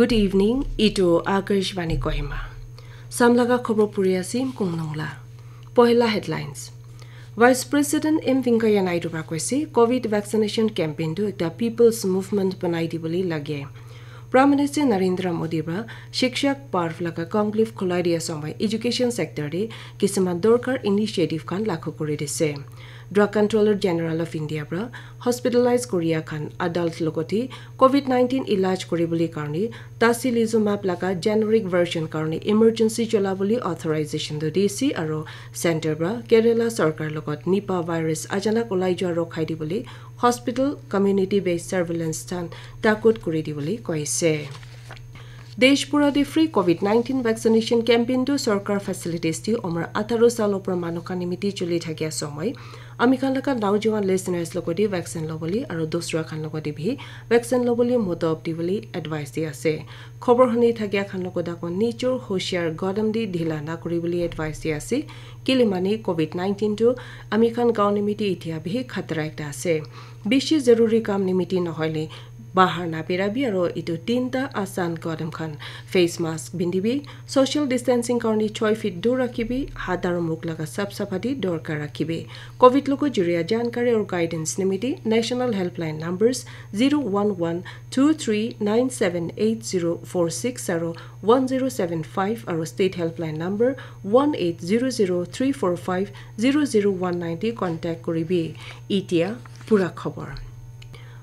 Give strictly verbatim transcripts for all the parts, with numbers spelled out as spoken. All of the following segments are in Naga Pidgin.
Good evening, itu Akashvani Kohima. Samlaga khobor puri asim kungnungla. Pohila headlines. Vice President M Venkaiah Naidu pra koise, COVID vaccination campaign tu ekta people's movement banai dibole lage. Prime Minister Narendra Modi pra Shikshak Parv laga conclave khulai dia samay education sector de kisiman dorkar initiative khan lakhu kuri dise. Drug Controller General of India pra hospitalize koria khan adult logote COVID nineteen ilaj kuribole karne tocilizumab laga generic version karne emergency cholabole authorization do dise aro center pra Kerala sarkar logot Nipah virus achanak ulai jua rokhai dibole hospital community based surveillance than takut kuri dibole koise. Desh pura de free COVID nineteen vaccination campaign tu sarkar facilities di umar atharo sal opor manu khan nimiti chuli thakia somoy ami khan laga naujuan listeners logote vaccine lobole aro dusra khan logote bhi vaccine lobole motop dibole advice di ase. Khobor huni thakia khan logot ako nijor hoshiar godam di dhila na kuribole advice di ase. Kile mane COVID nineteen tu ami khan gaon nimiti itia bhi khatra ekta ase. Bishi zaruri kam nimiti nohoile bahar na birabi aro itu tinta asan godam khan, face mask bindibi, social distancing karne choi feet dur rakhibi, hat aro muk laga sap sapati dorkar rakhibi. COVID logo juria jankari or guidance nimiti national helpline numbers zero one one two three nine seven eight zero four six aro one zero seven five aro state helpline number one eight zero zero three four five zero zero one nine te contact kuribi. Itia pura khobor.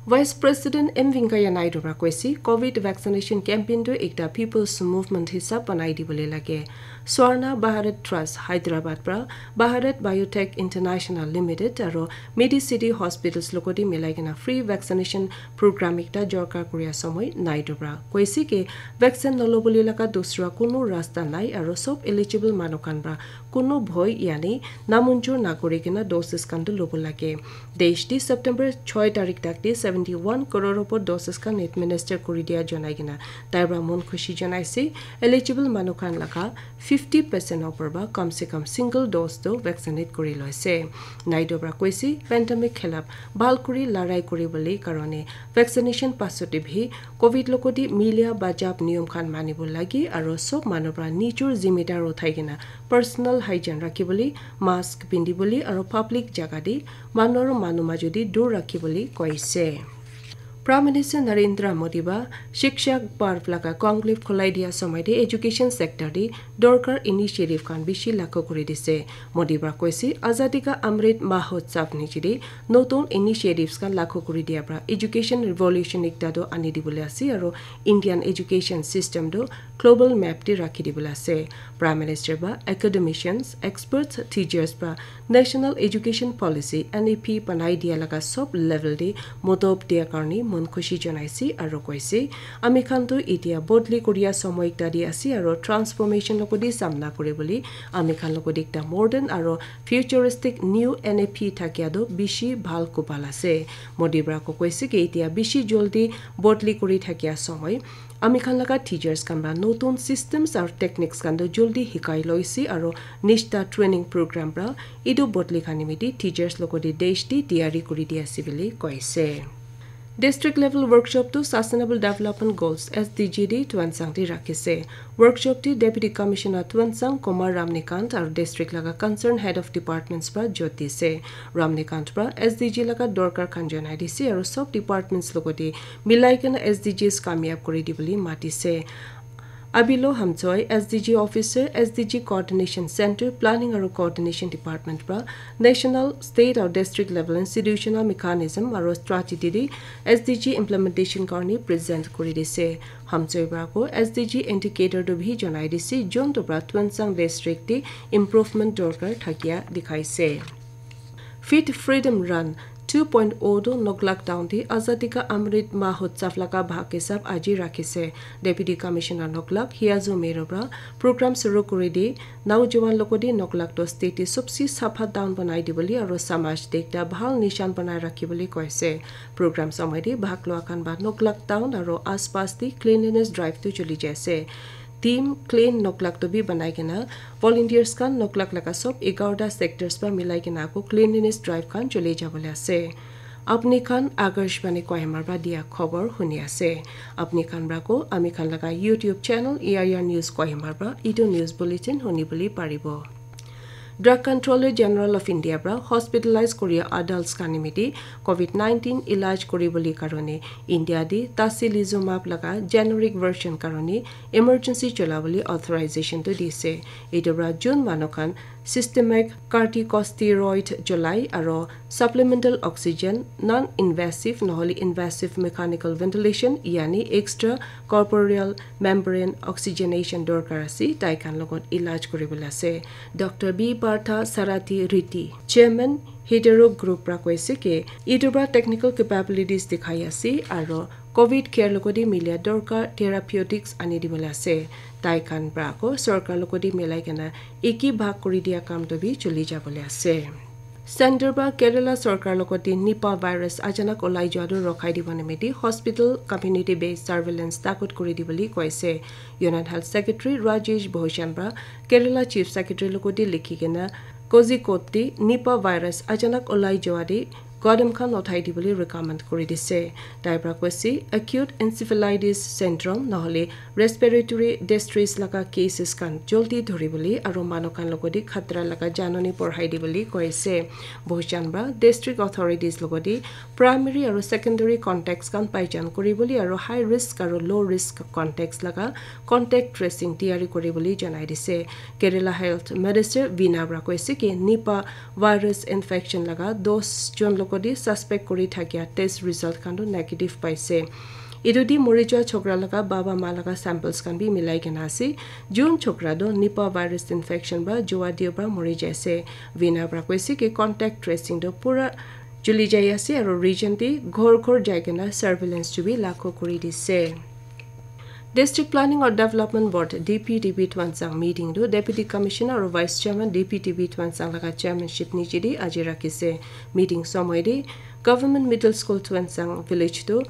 Vice President M Venkaiah Naidu pra koise, COVID vaccination campaign tu ekta people's movement hisab banai dibole lage. Swarna Bharat Trust Hyderabad pra Bharat Biotech International Limited aro Medicity Hospitals logote milai kena free vaccination program ekta jorkar kuria somoy Naidu pra koise ke vaccine nolobole laga dusra kunu rasta nai aro sob eligible manu khan pra kunu bhoi yani namunjur nakuri kena doses khan tu lobo lage. Desh di September choi tarik tak di seventy one crore opor doses khan administer kuri dia janai kena tai pra mon khushi janaise. Eligible manu khan laga fifty percent opor ba kam se kam single dose to vaccinate kuri loise. Naidu pra koise pandemic khilap bhal kuri larai kuri bole karone vaccination pasot bhi COVID logote milia bajab niyom khan manibo lage aro sob manu pra nijor zimedar uthai kena personal hygiene rakhibole, mask pindibole aro public jaga te manu aro manu majodi dur rakhibole koise. Prime Minister Narendra Modi ba Shikshak Parv laga conclave khulai dia samay te education sector te dorkar initiative khan bishi lakho kuri dise. Modi pra koise, Azadi ka Amrit Mahotsav niche te notun initiatives khan lakho kuri dia pra education revolution ekta to ani dibole ase aro Indian education system to global map te rakhi dibole ase. Prime Minister ba academicians, experts, teachers pra National Education Policy, N E P, banai dia laga sob level te motop dia karne mon khushi janaise aro koise, ami khan tu itia bodli kuria somoy ekta te ase aro transformation logote samna kuribole ami khan logote ekta modern aro futuristic new N E P thakia tu bishi bhal kubal ase. Modi pra ko koise ke itia bishi joldi bodli kuri thakia somoy ami khan laga teachers khan pra notun systems aro techniques khan tu joldi hikai loise aro nishta training program pra etu bodli khan nimiti teachers logote desh te tiyari kuri di ase bole koise. District level workshop tu Sustainable Development Goals, S D G, di Tuensang te rakhise. Workshop te Deputy Commissioner Tuensang Kumar Ramnikant aru district laga concerned head of departments pra jot dise. Ramnikant pra S D G laga dorkar khan janai dise aru sob departments logote milai kena S D Gs kamyab kuri dibole matise. Abilo Hamchoi, S D G Officer, S D G Coordination Center, Planning aru Coordination Department pra National, State aru District Level Institutional Mechanism aru Strategy te S D G Implementation karne present kuri dise. Hamchoi pra ko S D G Indicator tu bhi janai dise, jon tu pra Tuensang District te improvement dorkar thakia dikhaise. Fit Freedom Run two point oh tu Noklak Town te Azadi ka Amrit Mahotsav laga bhag hisab aji rakhise. Deputy Commissioner Noklak Hiazu Mero pra program suru kuri di, naujawan logote Noklak to state te sobse sapha town banai dibole aru samaj te ekta bhal nishan banai rakhibole koise. Program samay te bhag lua khan ba Noklak Town aru aspas te cleanliness drive tu choli jaise. Team Clean Noklak to bi banai kena volunteers khan Noklak laga sob egarota sectors pra milai kena ako cleanliness drive khan chole jabole ase. Apni khan Akashvani Kohima pra dia khobor huni ase. Apni khan pra ko ami khan laga YouTube channel E I R News Kohima pra itu news bulletin huni buli paribo. Drug Controller General of India pra hospitalize koria adults khan nimite covid nineteen ilaj kuri buli karone India di tocilizumab laga generic version karone emergency chola buli authorization tu dise. Itu pra jun manu khan systemic corticosteroid cholai aro supplemental oxygen, non-invasive nohole invasive mechanical ventilation, yani extracorporeal membrane oxygenation dorkar ase, tai khan logot ilaj kuribole ase. Doctor B Partha Sarathi Reddy, Chairman Hetero Group pra koise ke, itu pra technical capabilities dikhai ase aro covid care logodi milia dorkar therapeutics ani dibole ase. Tai khan pra ko sorkar logodi milai kena eki bhag kuri dia kam to bi chuli jabole ase. Center pra Kerala sorkar logodi Nipah virus achanak olai jua tu rokhai dibo nimiti hospital community based surveillance takut kuri dibole koise. Union Health Secretary Rajesh Bhushan pra Kerala Chief Secretary logodi likhi kena Kozhikode Nipah virus achanak olai jua di gadam khan uthai dibole recommend kuri dise. Tai pra koise acute encephalitis syndrome nohole respiratory distress laga cases khan joldi dhuribole aro manu khan logodi khatra laga janani porhai dibole koise. Bhushan pra district authorities logodi primary aro secondary contacts khan paichan kuribole aro high risk aro low risk contacts laga contact tracing tiyari kuribole janai dise. Kerala Health Minister Veena pra koise ke Nipah virus infection laga dos jon logodi suspect kuri thakia test result khan tu negative paise. Itu di mori jua chokra laga baba ma laga samples khan bi milai kena ase. Jun chokra tu Nipah virus infection pra jua dio pra mori jaise. Veena pra koise ke contact tracing tu pura chuli jai ase aro region di ghor ghor jai kena surveillance tu bi lakho kuri dise. District Planning or Development Board D P D B Tuensang meeting tu Deputy Commissioner aro Vice Chairman D P D B Tuensang laga chairmanship niche di aji rakhise. Meeting somoy di Government Middle School Tuensang village tu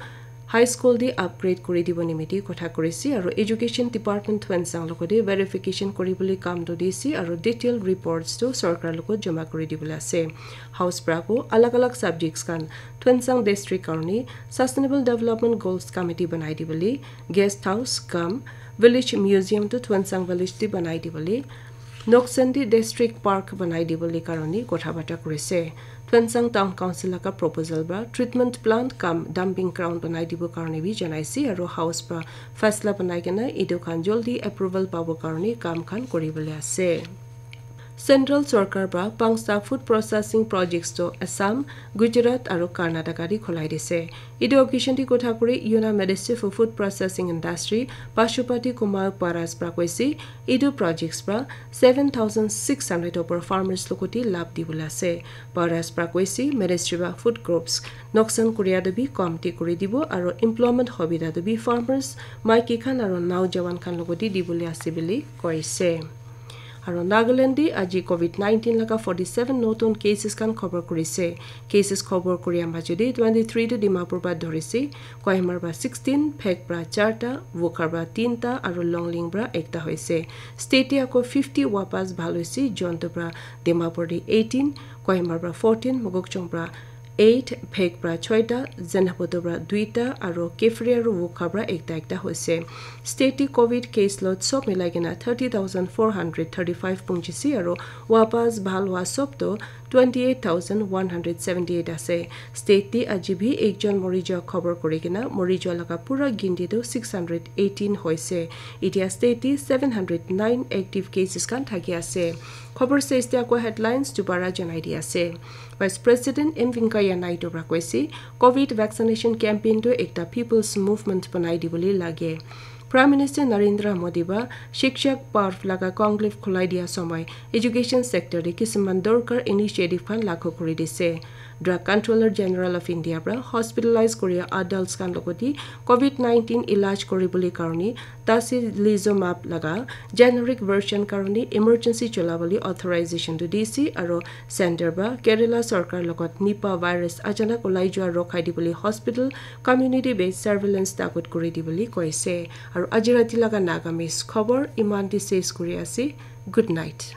high school di upgrade kuri dibo nimiti kotha kurise aro Education Department Tuensang logodi verification kuribole kam tu dise aro detail reports tu sorkar logot joma kuri dibole ase. House pra ko alag alag subjects khan Tuensang district karone Sustainable Development Goals Committee banai dibole, guest house cum village museum tu Tuensang village di banai dibole, Noksen di district park banai dibole karone kotha bata kurise. Tuensang Town Council laga proposal pra treatment plant cum dumping ground banai dibo karone bi janaise aro house pra faisla banai kena itu khan joldi approval pabo karone kam khan kuribole ase. Central sorkar pra pangsta food processing projects to Assam, Gujarat aro Karnataka di khulai dise. Itu occasion di kotha kuri Union Minister for Food Processing Industry Pashupati Kumar Paras pra koise, itu projects pra seven thousand six hundred opor farmers logoti lab dibole ase. Paras pra koise, ministry pra food crops noksan kuria tu bi komti kuri dibo aro employment hobida tu bi farmers, maiki khan aro naujawan khan logoti dibole ase bili koise. Aro Nagaland di aji covid nineteen laga forty seven notun cases khan khobor kurise. Cases khobor kuria majo di twenty three tu Dimapur pra dhurisi, Kohima pra sixteen, Phek pra charta, Wokha pra tinta aro Longleng pra ekta hoise. State te ako fifty wapas bhal hoise, Jontu pra Dimapur di eighteen, Kohima pra fourteen, Mokokchung pra eight, Phek pra choita, Zunheboto pra duita, aro Kiphire aro Wokha pra ekta ekta hoise. State te covid case load sob milai kena thirty thousand four hundred thirty five punjise aro wapas bhal hua sob to twenty eight thousand one hundred seventy eight ase. State te aji bi ekjon mori jua khobor kuri kena mori jua laga pura ginti tu six hundred eighteen hoise. Itia state te seven hundred nine active cases khan thaki ase. Khobor sesde ako headlines dubara janai di ase. Vice President M Venkaiah Naidu pra koise, covid vaccination campaign tu ekta people's movement banai dibole lage. Prime Minister Narendra Modi ba Shikshak Parv laga conclave khulai dia somoy education sector te kisiman dorkar initiative khan lakho kuri dise. Drug Controller General of India pra hospitalize kuria adults khan logoti covid nineteen ilaj kuribole karone tocilizumab laga generic version karone emergency cholabole authorization tu dise aro center pra Kerala sorkar logot Nipah virus achanak olai jua rokhai dibole hospital community based surveillance takut kuri dibole koise. Aro aji rati laga Nagamese khobor iman te ses kuri ase. Good night.